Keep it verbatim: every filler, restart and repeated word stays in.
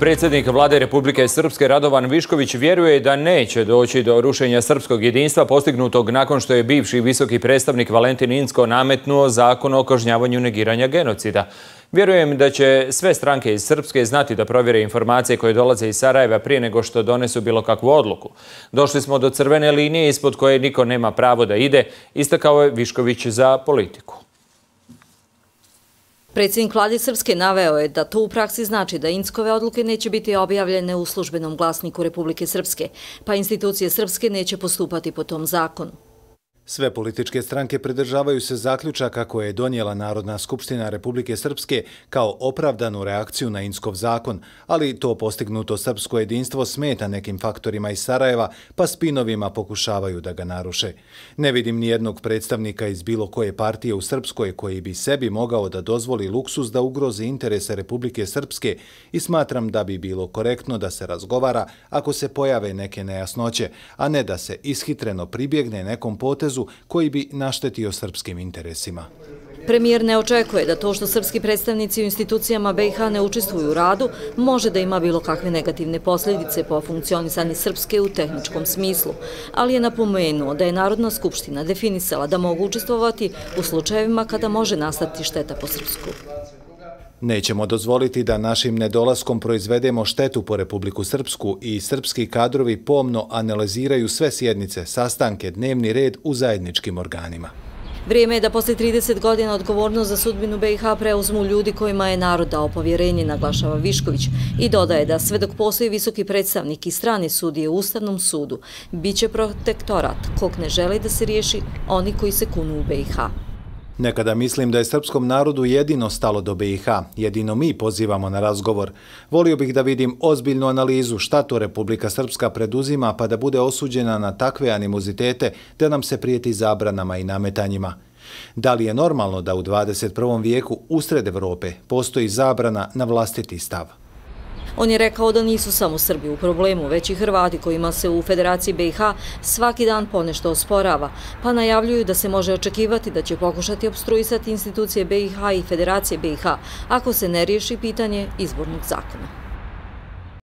Predsjednik Vlade Republike Srpske Radovan Višković vjeruje da neće doći do rušenja srpskog jedinstva postignutog nakon što je bivši visoki predstavnik Valentin Incko nametnuo zakon o kažnjavanju negiranja genocida. Vjerujem da će sve stranke iz Srpske znati da provjere informacije koje dolaze iz Sarajeva prije nego što donesu bilo kakvu odluku. Došli smo do crvene linije ispod koje niko nema pravo da ide, istakao je Višković za Politiku. Predsjednik Vlade Srpske naveo je da to u praksi znači da Inckove odluke neće biti objavljene u službenom glasniku Republike Srpske, pa institucije Srpske neće postupati po tom zakonu. Sve političke stranke pridržavaju se zaključaka koje je donijela Narodna skupština Republike Srpske kao opravdanu reakciju na Inckov zakon, ali to postignuto srpsko jedinstvo smeta nekim faktorima iz Sarajeva, pa spinovima pokušavaju da ga naruše. Ne vidim ni jednog predstavnika iz bilo koje partije u Srpskoj koji bi sebi mogao da dozvoli luksuz da ugrozi interese Republike Srpske i smatram da bi bilo korektno da se razgovara ako se pojave neke nejasnoće, a ne da se ishitreno pribjegne nekom potezu koji bi naštetio srpskim interesima. Premijer ne očekuje da to što srpski predstavnici u institucijama B i H ne učestvuju u radu može da ima bilo kakve negativne posljedice po funkcionisanje Srpske u tehničkom smislu, ali je napomenuo da je Narodna skupština definisala da mogu učestvovati u slučajevima kada može nastati šteta po Srpsku. Nećemo dozvoliti da našim nedolaskom proizvedemo štetu po Republiku Srpsku i srpski kadrovi pomno analiziraju sve sjednice, sastanke, dnevni red u zajedničkim organima. Vrijeme je da posle trideset godina odgovornost za sudbinu B i H preuzmu ljudi kojima je narod dao povjerenje, naglašava Višković, i dodaje da sve dok postoji visoki predstavnik i strane sudije u Ustavnom sudu, bit će protektorat kog ne žele da se riješi oni koji se kunu u B i H. Nekada mislim da je srpskom narodu jedino stalo do B i H, jedino mi pozivamo na razgovor. Volio bih da vidim ozbiljnu analizu šta to Republika Srpska preduzima pa da bude osuđena na takve animozitete da nam se prijeti zabranama i nametanjima. Da li je normalno da u dvadeset prvom vijeku usred Evrope postoji zabrana na vlastiti stav? On je rekao da nisu samo Srbi u problemu, već i Hrvati kojima se u Federaciji B i H svaki dan ponešto osporava, pa najavljuju da se može očekivati da će pokušati opstruisati institucije B i H i Federacije B i H ako se ne riješi pitanje izbornog zakona.